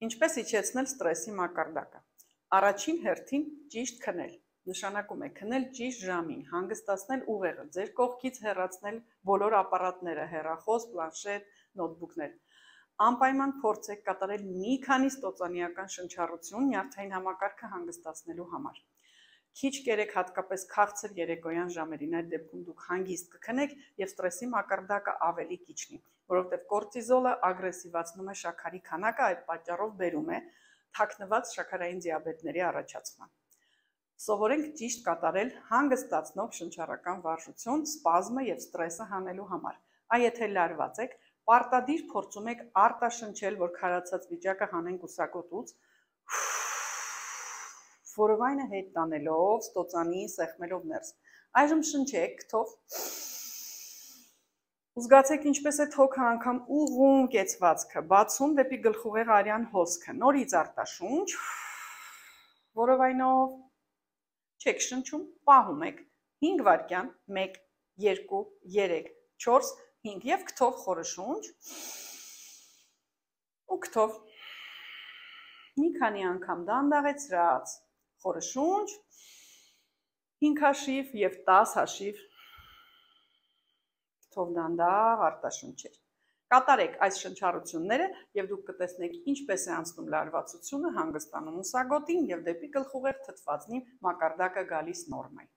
Ինչպես իջեցնել ստրեսի մակարդակը։ Առաջին հերթին ճիշտ քնել։ Նշանակում է քնել ճիշտ ժամին, հանգստացնել ուղեղը, ձեր կողքից հեռացնել բոլոր ապարատները, հեռախոս, պլանշետ, նոթբուքներ։ Անպայման փորձեք կատարել մի քանի ստոծանիական շնչառություն նյարդային համակարգը հանգստացնելու համար։ Քիչ կերեք հատկապես քաղցր երեկոյան ժամերին, այդ դեպքում դուք հանգիստ կքնեք եւ ստրեսի մակարդակը ավելի կիջնի, որովհետեւ կորտիզոլը ագրեսիվացնում է շաքարի քանակը, այդ պատճառով բերում է թաքնված շաքարային դիաբետների առաջացման։ Սովորենք ճիշտ կատարել հանգստացնող շնչառական վարժություն սպազմը եւ ստրեսը հանելու համար։ Այ եթե լարված եք, պարտադիր փորձում եք արտաշնչել, որ քարացած վիճակը հանեն կուսակոտուց, որովայնը հետ տանելով, ստոծանի, սեղմելով ներս։ Այժմ շնչեք քթով։ Զգացեք ինչպես է թոքը անգամ ուղում կեցվածքը, բացում դեպի գլխուղեղ արյան հոսքը, նորից արտաշունչ, որովայնով չեք շնչում, պահում եք 5 վայրկյան, 1, 2, 3, 4, 5 եւ քթով խորը շունչ ու քթով մի քանի անգամ դանդաղեցրած խորը շունչ 5 հաշիվ եւ 10 հաշիվ քթով դանդաղ արտաշունչեր։ Կատարեք այս շնչառությունները եւ դուք կտեսնեք ինչպես է անցնում լարվածությունը, հանգստանում ուսագոտին եւ դեպի գլխուղեղ թթվածնի մակարդակը գալիս նորմայ։